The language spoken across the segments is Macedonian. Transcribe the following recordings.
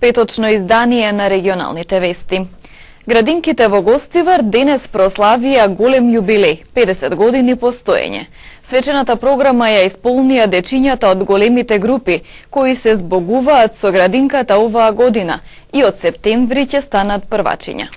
Петочно издание на регионалните вести. Градинките во Гостивар денес прославија голем јубилеј, 50 години постоење. Свечената програма ја исполнија дечињата од големите групи, кои се збогуваат со градинката оваа година и од септември ќе станат првачиња.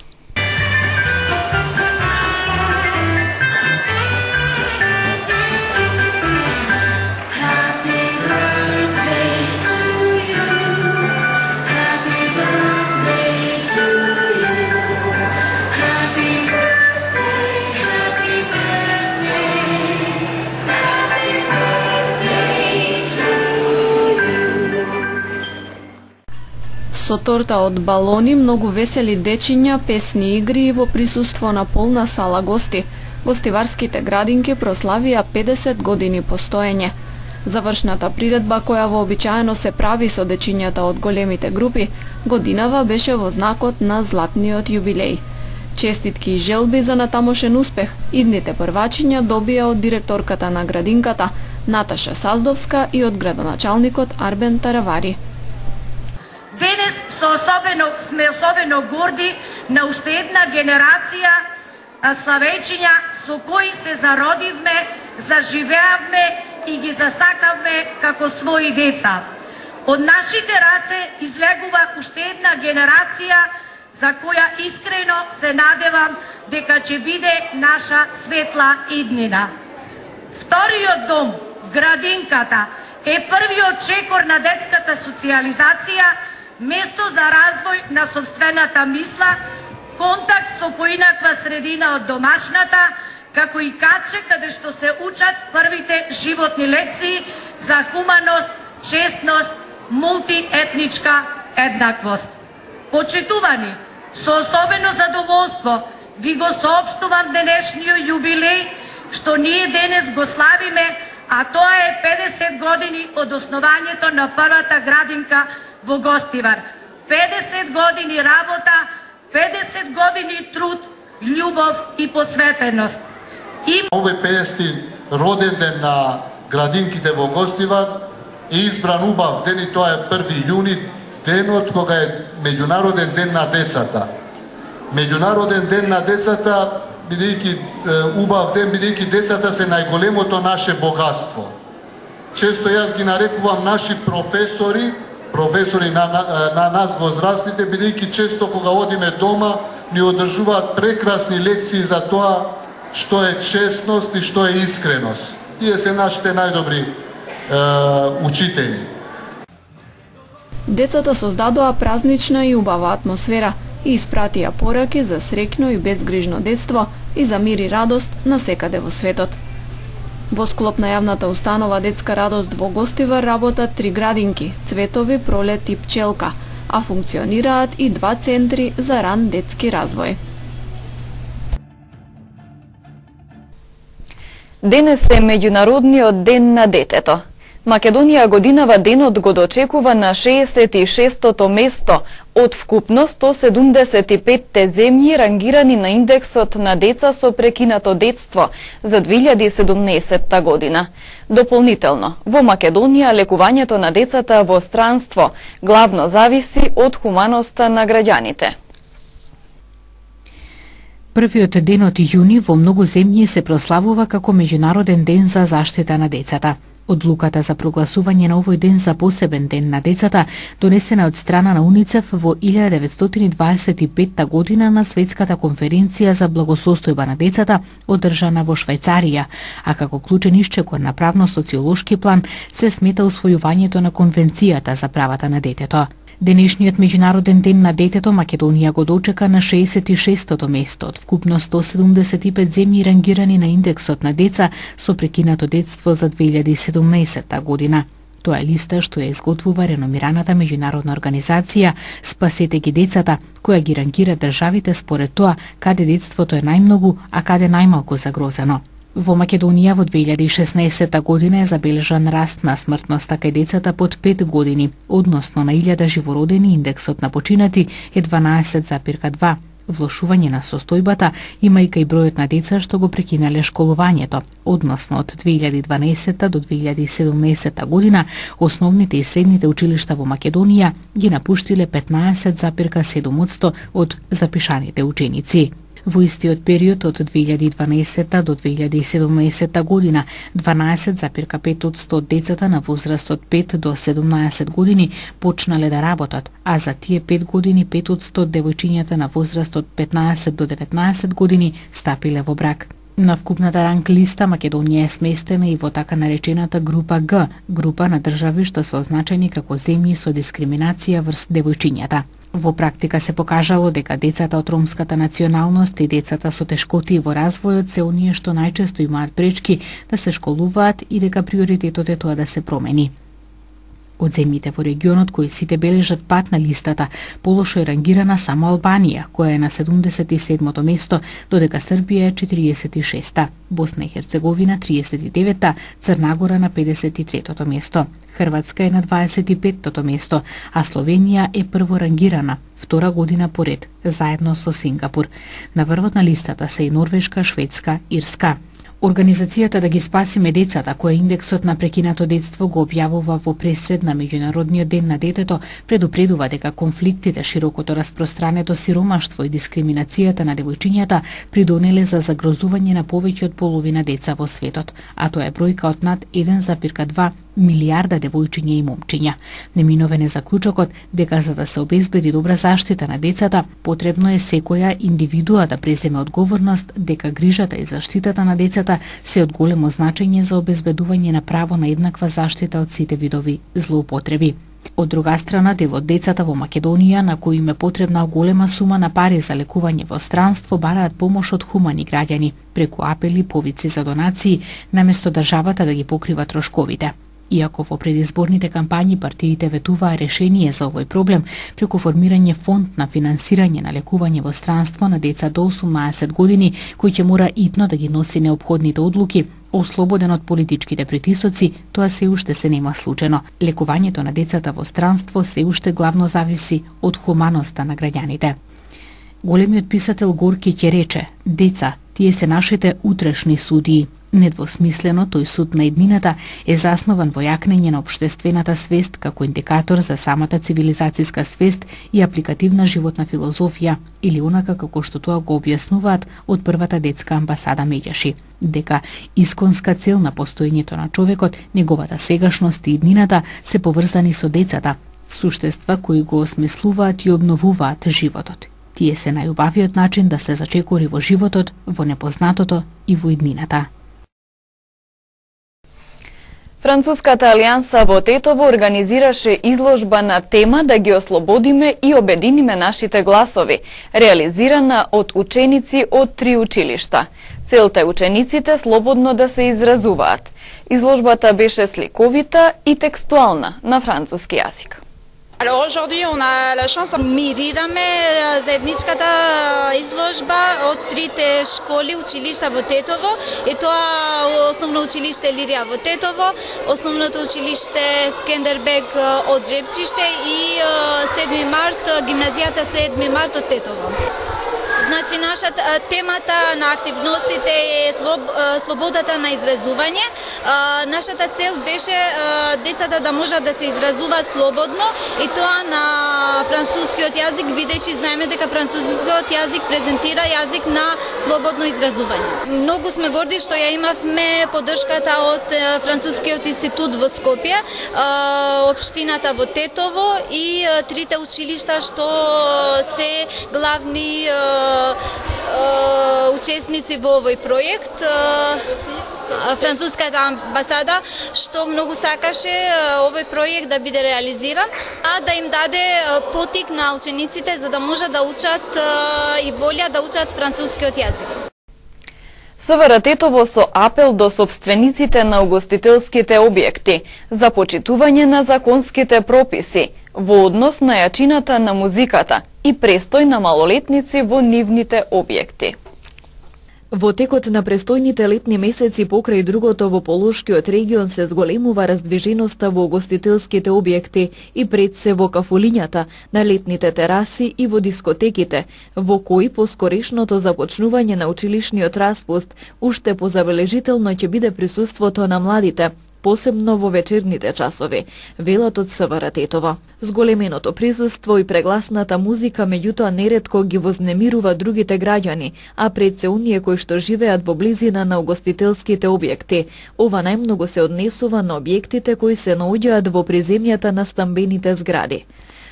Со торта од балони, многу весели дечиња, песни игри и во присуство на полна сала гости, гостиварските градинки прославија 50 години постоење. Завршната приредба, која вообичаено се прави со дечињата од големите групи, годинава беше во знакот на златниот јубилеј. Честитки и желби за натамошен успех идните првачиња добија од директорката на градинката Наташа Саздовска и од градоначалникот Арбен Таравари. Денес сме особено горди на уште една генерација славејчиња со кои се зародивме, заживеавме и ги засакавме како своји деца. Од нашите раце излегува уште една генерација за која искрено се надевам дека ќе биде наша светла иднина. Вториот дом, градинката, е првиот чекор на детската социјализација, место за развој на собствената мисла, контакт со поинаква средина од домашната, како и каче каде што се учат првите животни лекции за хуманост, честност, мултиетничка еднаквост. Почитувани, со особено задоволство ви го соопштувам денешниот јубилеј што ние денес го славиме, а тоа е 50 години од основањето на првата градинка во Гостивар. 50 години работа, 50 години труд, љубов и посветеност. Овој 50 роден ден на градинките во Гостивар е избран убав ден и тоа е 1 јуни, денот кога е Меѓународен ден на децата. Меѓународен ден на децата, бидејќи убав ден, бидејќи децата се најголемото наше богатство. Често јас ги нарекувам наши професори на нас возрастните, бидејќи често кога одиме дома ни одржуваат прекрасни лекции за тоа што е честност и што е искреност. Тие се нашите најдобри учители. Децата создадоа празнична и убава атмосфера и испратија пораки за среќно и безгрижно детство и за мир и радост насекаде во светот. Во склоп на јавната установа Детска радост во Гостивар работат 3 градинки, Цветови, Пролет и Пчелка, а функционираат и 2 центри за ран детски развој. Денес е Меѓународниот ден на детето. Македонија годинава денот го дочекува на 66-тото место од вкупно 175 земји рангирани на индексот на деца со прекинато детство за 2017 година. Дополнително, во Македонија лекувањето на децата во странство главно зависи од хуманоста на граѓаните. Првиот ден од јуни во многу земји се прославува како Меѓународен ден за заштита на децата. Одлуката за прогласување на овој ден за посебен ден на децата донесена од страна на УНИЦЕФ во 1925 година на Светската конференција за благосостојба на децата одржана во Швајцарија, а како клучен исчекор на правно-социолошки план се смета усвојувањето на Конвенцијата за правата на детето. Денешниот Меѓународен ден на детето Македонија го дочека на 66-тото место од вкупно 175 земји рангирани на индексот на деца со прекинато детство за 2017 година. Тоа е листа што ја изготвува реномираната меѓународна организација Спасете ги децата, која ги рангира државите според тоа каде детството е најмногу, а каде најмалку загрозено. Во Македонија во 2016 година е забележан раст на смртноста кај децата под 5 години, односно на 1000 живородени индексот на починати е 12,2. Влошување на состојбата има и кај бројот на деца што го прекинале школувањето, односно од 2012 до 2017 година основните и средните училишта во Македонија ги напуштиле 15,7% од запишаните ученици. Во истиот период од 2012 до 2017 година 12,5% од децата на возраст од 5 до 17 години почнале да работат, а за тие 5 години 5% од девојчињата на возраст од 15 до 19 години стапиле во брак. На вкупната ранг листа Македонија е сместена и во така наречената група Г, група на држави што се означени како земји со дискриминација врз девојчињата. Во практика се покажало дека децата од ромската националност и децата со тешкоти во развојот се оние што најчесто имаат пречки да се школуваат и дека приоритетот е тоа да се промени. Од земјите во регионот кои сите бележат пат на листата, полошо е рангирана само Албанија, која е на 77-то место, додека Србија е 46-та, Босна и Херцеговина 39-та, Црна Гора на 53-то место. Хрватска е на 25-то место, а Словенија е прво рангирана, втора година поред, заедно со Сингапур. На врвот на листата се и Норвешка, Шведска, Ирска. Организацијата Да ги спасиме децата, која индексот на прекинато детство го објавува во пресред на Меѓународниот ден на детето, предупредува дека конфликтите, широкото распространето сиромаштво и дискриминацијата на девојчињата придонеле за загрозување на повеќе од половина деца во светот, а тоа е бројка од над 1,2 милиарда девојчиња и момчиња. Неминовен е заклучокот дека за да се обезбеди добра заштита на децата, потребно е секоја индивидуа да преземе одговорност дека грижата и заштитата на децата се од големо значење за обезбедување на право на еднаква заштита од сите видови злоупотреби. Од друга страна, дел од децата во Македонија, на кои им е потребна голема сума на пари за лекување во странство, бараат помош од хумани граѓани, преку апели, повици за донации, наместо државата да ги покрива трошковите. Иако во предизборните кампањи партиите ветуваа решение за овој проблем преку формирање фонд на финансирање на лекување во странство на деца до 18 години, кој ќе мора итно да ги носи неопходните одлуки, ослободен од политичките притисоци, тоа се уште се нема случено. Лекувањето на децата во странство се уште главно зависи од хуманоста на граѓаните. Големиот писател Горки ќе рече: деца, тие се нашите утрешни судии. Недвосмислено, тој суд на еднината е заснован во јакнење на општествената свест како индикатор за самата цивилизацијска свест и апликативна животна филозофија, или онака како што тоа го објаснуваат од првата детска амбасада Меѓаши, дека исконска цел на постоењето на човекот, неговата сегашност и иднината се поврзани со децата, суштества кои го осмислуваат и обновуваат животот. Тие се најубавиот начин да се зачекори во животот, во непознатото и во иднината. Француската алијанса во Тетово организираше изложба на тема "Да ги ослободиме и обединиме нашите гласови", реализирана од ученици од 3 училишта. Целта е учениците слободно да се изразуваат. Изложбата беше сликовита и текстуална на француски јазик. Alors aujourd'hui on a la chance мирираме заедничката изложба од трите школи, училишта во Тетово, и тоа основно училиште Лирија во Тетово, основното училиште Скендербег од Жепчиште и 7 март, гимназијата 7 март од Тетово. Значи, нашата темата на активностите е слободата на изразување. Нашата цел беше децата да можат да се изразуваат слободно, и тоа на францускиот јазик, бидејќи знаеме дека францускиот јазик презентира јазик на слободно изразување. Многу сме горди што ја имавме поддршката од Францускиот институт во Скопје, општината во Тетово и трите училишта што се главни учесници во овој проект. Француската амбасада што многу сакаше овој проект да биде реализиран, а да им даде потик на учениците за да можат да учат и волја да учат францускиот јазик. СВР Тетово со апел до сопствениците на угостителските објекти за почитување на законските прописи во однос на јачината на музиката и престој на малолетници во нивните објекти. Во текот на престојните летни месеци покрај другото во Полошкиот регион се зголемува раздвиженоста во угостителските објекти и пред се во кафулињата, на летните тераси и во дискотеките, во кои по скорешното започнување на училишниот распуст уште позабележително ќе биде присуството на младите, посебно во вечерните часови, велат од СВР Тетово. Зголеменото присуство и прегласната музика меѓутоа неретко ги вознемирува другите граѓани, а пред се оние кои што живеат во близина на угостителските објекти. Ова најмногу се однесува на објектите кои се наоѓаат во приземјата на стамбените згради.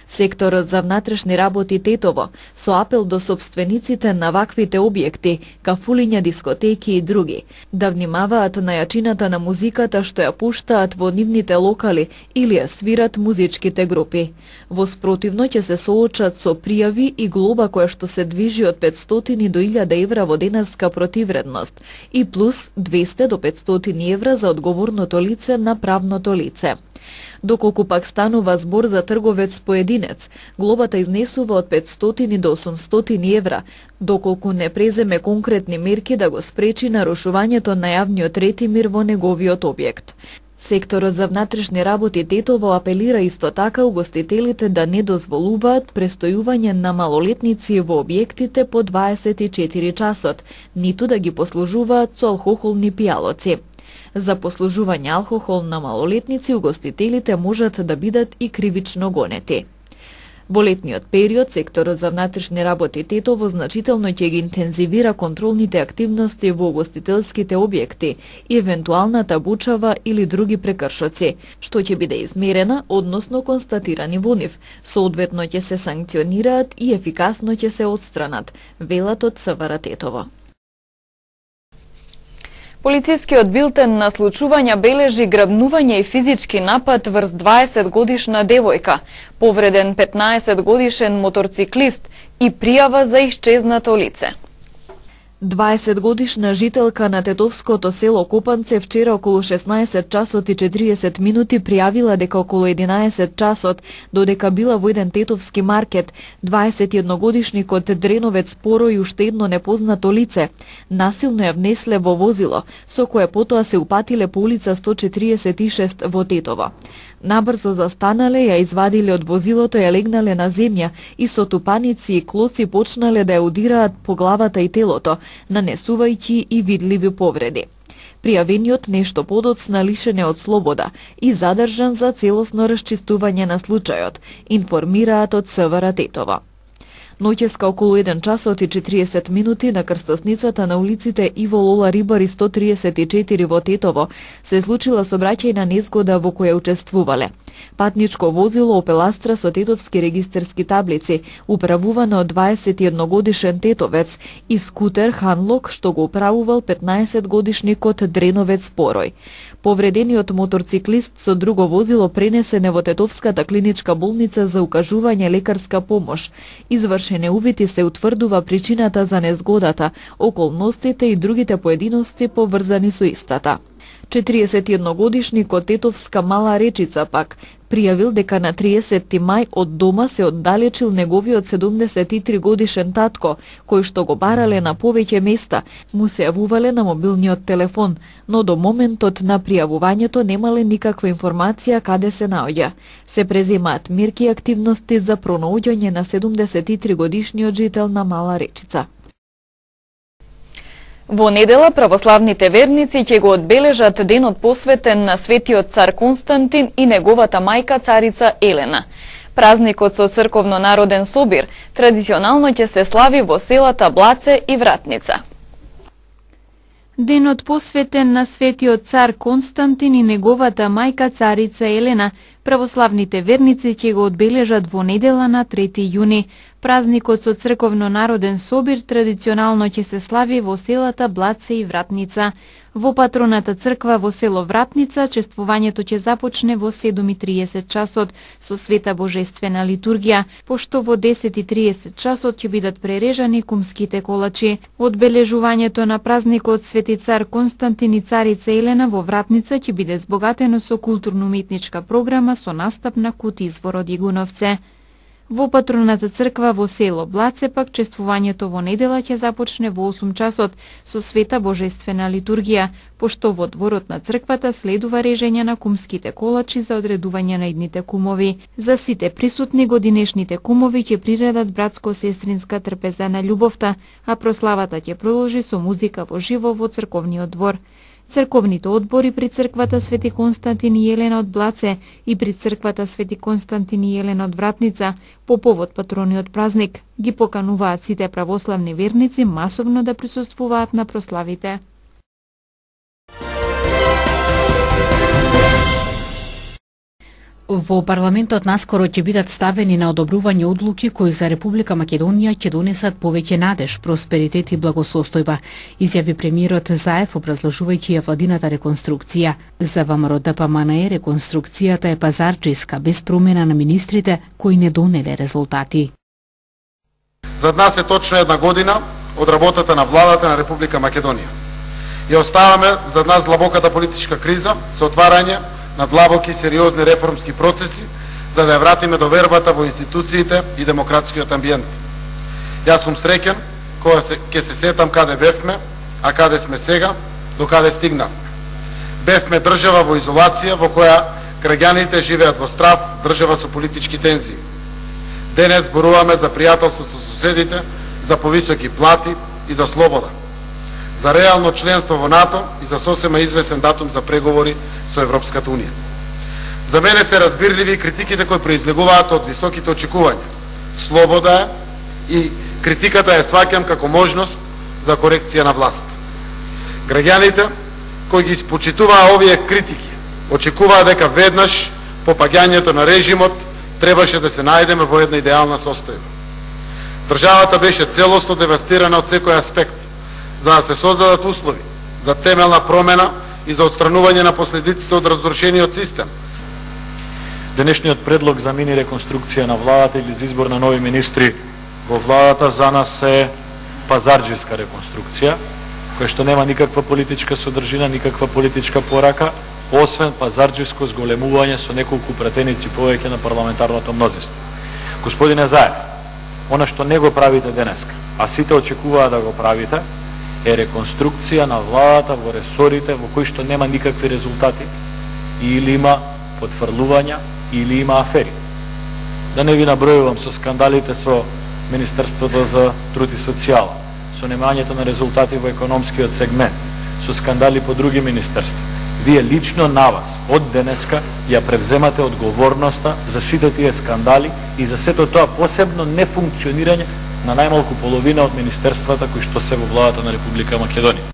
Секторот за внатрешни работи Тетово, со апел до собствениците на ваквите објекти, кафулиња, дискотеки и други, да внимаваат на јачината на музиката што ја пуштаат во нивните локали или ја свират музичките групи. Во спротивно ќе се соочат со пријави и глоба која што се движи од 500 до 1000 евра во денарска противредност и плюс 200 до 500 евра за одговорното лице на правното лице. Доколку пак станува збор за трговец поединец, глобата изнесува од 500 до 800 евра, доколку не преземе конкретни мерки да го спречи нарушувањето на јавниот ред и мир во неговиот објект. Секторот за внатрешни работи Тетово апелира исто така угостителите да не дозволуваат престојување на малолетници во објектите по 24 часот, ниту да ги послужуваат со алкохолни пијалоци. За послужување алкохол на малолетници угостителите можат да бидат и кривично гонети. Во летниот период, секторот за внатрешни работи Тетово значително ќе ги интензивира контролните активности во угостителските објекти и евентуалната бучава или други прекршоци, што ќе биде измерена, односно констатирани во нив, соодветно ќе се санкционираат и ефикасно ќе се отстранат, велат од СВР Тетово. Полицискиот билтен на случувања бележи грабнување и физички напад врз 20-годишна девојка, повреден 15-годишен моторциклист и пријава за исчезнато лице. 20-годишна жителка на тетовското село Копанце вчера околу 16 часот и 40 минути пријавила дека околу 11 часот, додека била во еден тетовски маркет, 21-годишникот Дреновец Поро и уште едно непознато лице насилно ја внесле во возило, со кое потоа се упатиле по улица 146 во Тетово. Набрзо застанале, ја извадиле од возилото, ја легнале на земја и со тупаници и клоци почнале да ја удираат по главата и телото, нанесувајќи и видливи повреди. Пријавениот нешто подоцна лишен е од слобода и задржан за целосно расчистување на случајот, информираат од СВР Тетово. Ноќеска околу 1 часот и 40 минути на крстосницата на улиците Иво Лола Рибари 134 во Тетово се случила сообраќајна незгода во која учествувале патничко возило Опел Астра со тетовски регистерски таблици, управувано од 21-годишен тетовец, и скутер Ханлок што го управувал 15-годишникот Дреновец Порој. Повредениот моторциклист со друго возило пренесене во Тетовската клиничка болница за укажување лекарска помош. Извршене увити се утврдува причината за незгодата, околностите и другите поединости поврзани со истата. 41-годишникот Тетовска Мала Речица пак пријавил дека на 30 мај од дома се оддалечил неговиот 73-годишен татко, кој што го барале на повеќе места, му се јавувале на мобилниот телефон, но до моментот на пријавувањето немале никаква информација каде се наоѓа. Се преземаат мерки и активности за пронаоѓање на 73-годишниот жител на Мала Речица. Во недела православните верници ќе го одбележат денот посветен на светиот цар Константин и неговата мајка царица Елена. Празникот со црковно-народен собир традиционално ќе се слави во селата Блаце и Вратница. Денот посветен на светиот цар Константин и неговата мајка царица Елена, православните верници ќе го одбележат во недела на 3 јуни. Празникот со црковно-народен собир традиционално ќе се слави во селата Блаце и Вратница. Во патроната црква во село Вратница чествувањето ќе започне во 7:30 часот со света божествена литургија, пошто во 10:30 часот ќе бидат прережани кумските колачи. Одбележувањето на празникот Свети цар Константин и царица Елена во Вратница ќе биде збогатено со културно-уметничка програма со настап на Кут Извор од Игуновце. Во патроната црква во село Блаце пак чествувањето во недела ќе започне во 8 часот со света божествена литургија, пошто во дворот на црквата следува режење на кумските колачи за одредување на идните кумови. За сите присутни годинешните кумови ќе приредат братско-сестринска трпеза на љубовта, а прославата ќе продолжи со музика во живо во црковниот двор. Црковните одбори при црквата Свети Константин и Елена од Блаце и при црквата Свети Константин и Елена од Вратница по повод патрониот празник ги покануваат сите православни верници масовно да присуствуваат на прославите. Во парламентот наскоро ќе бидат ставени на одобрување одлуки кои за Република Македонија ќе донесат повеќе надеж, просперитет и благосостојба, изјави премиерот Заев образложувајќи ја владината реконструкција. За ВМРО-ДПМНЕ реконструкцијата е пазарчиска, без промена на министрите кои не донеле резултати. За нас е точно една година од работата на владата на Република Македонија. Ја оставаме за нас длабоката политичка криза со отварање на длабоки и сериозни реформски процеси, за да ја вратиме довербата во институциите и демократскиот амбиент. Јас сум среќен кога ќе се сетам каде бевме, а каде сме сега, до каде стигнавме. Бевме држава во изолација во која граѓаните живеат во страв, држава со политички тензии. Денес зборуваме за пријателство со соседите, за повисоки плати и за слобода, за реално членство во НАТО и за сосема извесен датум за преговори со Европската Унија. За мене се разбирливи критиките кои произлегуваат од високите очекувања. Слобода е и критиката ја сваќам како можност за корекција на власт. Граѓаните кои ги почитуваа овие критики очекуваа дека веднаш по паѓањето на режимот требаше да се најдеме во една идеална состојба. Државата беше целосно девастирана од секој аспект, за да се создадат услови за темелна промена и за отстранување на последиците од разрушениот систем. Денешниот предлог за мини реконструкција на владата или за избор на нови министри во владата за нас е пазарџиска реконструкција, која што нема никаква политичка содржина, никаква политичка порака, освен пазарџиско зголемување со неколку пратеници повеќе на парламентарното мнозинство. Господине Заев, она што не го правите денеска, а сите очекуваат да го правите, е реконструкција на владата во ресорите во кои што нема никакви резултати, или има потврлувања, или има афери. Да не ви набројувам со скандалите со Министерството за труд и социјала, со немањето на резултати во економскиот сегмент, со скандали по други министерства. Вие лично на вас од денеска ја превземате одговорноста за сите тие скандали и за сето тоа посебно нефункционирање на најмалку половина од министерствата кои што се во владата на Република Македонија.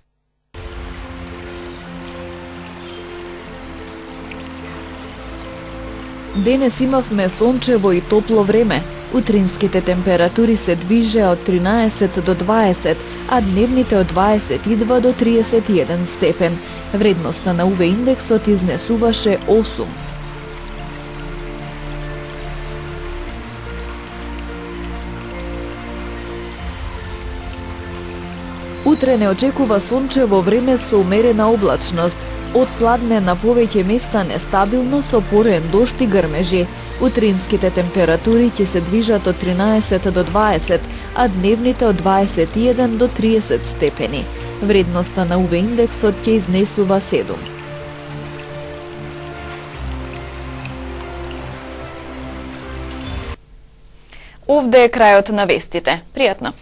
Денес имавме сончево и топло време. Утринските температури се движеа од 13 до 20, а дневните од 22 до 31 степен. Вредноста на УВ индексот изнесуваше 8. Утре не очекува сончево време со умерена облачност. Од пладне на повеќе места нестабилно со порен дожд и грмежи. Утринските температури ќе се движат од 13 до 20, а дневните од 21 до 30 степени. Вредноста на УВ индексот ќе изнесува 7. Овде е крајот на вестите. Пријатно!